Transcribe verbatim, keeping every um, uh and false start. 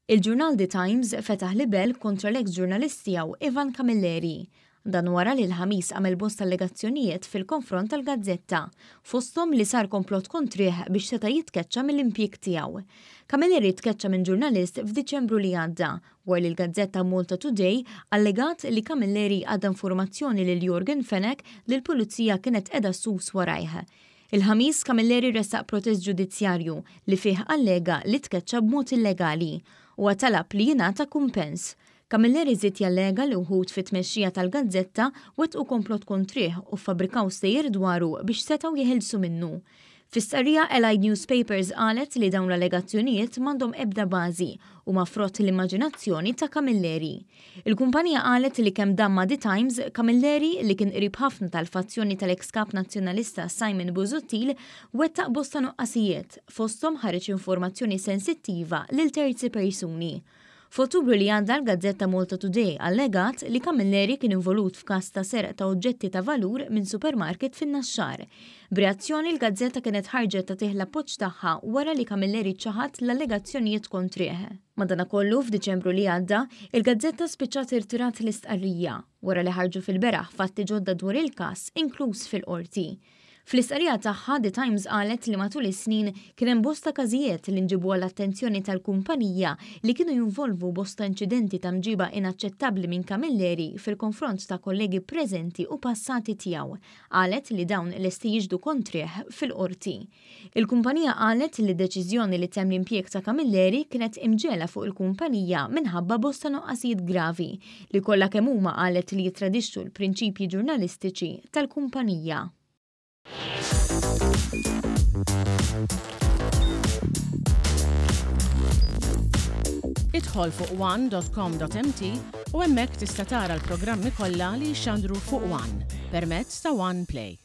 Il-ġurnal The Times fetaħ libel kontra l-ex ġurnalist tiegħu Ivan Camilleri. Dan wara li l-Ħamis għamel bosta allegazzjonijiet fil-konfront tal-gazzetta, fosthom li sar komplott kontrih biex seta' jitkeċċa mill-impjieg tiegħu. Camilleri tkeċċa minn ġurnalist f'Diċembru li għadda, wara li l-gazzetta Malta Today allegat li Camilleri għadda informazzjoni lil Yorgen Fenech li l-pulizija kienet qiegħda ssus warajh. Il-Ħamis Camilleri ressaq protest ġudizzjarju li fih allega li tkeċċa b'mod illegali u talab li jingħata kumpens. Camilleri żied jallega li wħud fit-tmexxija tal-gazzetta wettqu komplott kontrih u fabbrikaw stejjer dwaru biex setgħu jeħilsu minnu. Fi stqarrija, Allied Newspapers qalet li dawn l-allegazzjonijiet m'għandhom ebda bażi u huma frott l-immaġinazzjoni ta' Camilleri. Il-kumpanija qalet li kemm dam ma' The Times, Camilleri, li kien qrib ħafna tal-fazzjoni tal-ex kap nazzjonalista Simon Busuttil, wettaq bosta nuqqasijiet, fosthom ħareġ informazzjoni sensittiva lil terzi persuni. F'Ottubru li għadda, l-gazzetta Malta Today allegat li Camilleri kien involut f'każ ta' serq ta' oġġetti ta' valur minn supermarket fin-Naxxar. B'reazzjoni, l-gazzetta kienet ħarġet tagħtih l-appoġġ tagħha wara li Camilleri ċaħat l-allegazzjonijiet kontrih. Madanakollu, f'Diċembru li għadda, il-gazzetta spiċċat irtirat l-istqarrija wara li ħarġu fil-beraħ fatti ġodda dwar il-każ, inkluż fil-qorti. Fl-istqarrija tagħha, The Times qalet li matul is-snin kien hemm bosta każijiet li nġibu għall-attenzjoni tal-kumpanija li kienu jinvolvu bosta inċidenti ta' mġiba inaċċettabbli minn Camilleri fil-konfront ta' kollegi preżenti u passati tiegħu. Qalet li dawn lesti jixhdu kontrih fil-qorti. Il-kumpanija qalet li d-deċiżjoni li ttemm l-impjieg ta' Camilleri kienet imġiegħla fuq il-kumpanija minħabba bosta nuqqasijiet gravi li kollha kemm huma qalet li jitradixxu l-prinċipji ġurnalistiċi tal-kumpanija. Idħol fuq one dot com dot M T u hemmhekk tista' tara l-programmi kollha li jxandru fuq One permezz ta' One Play.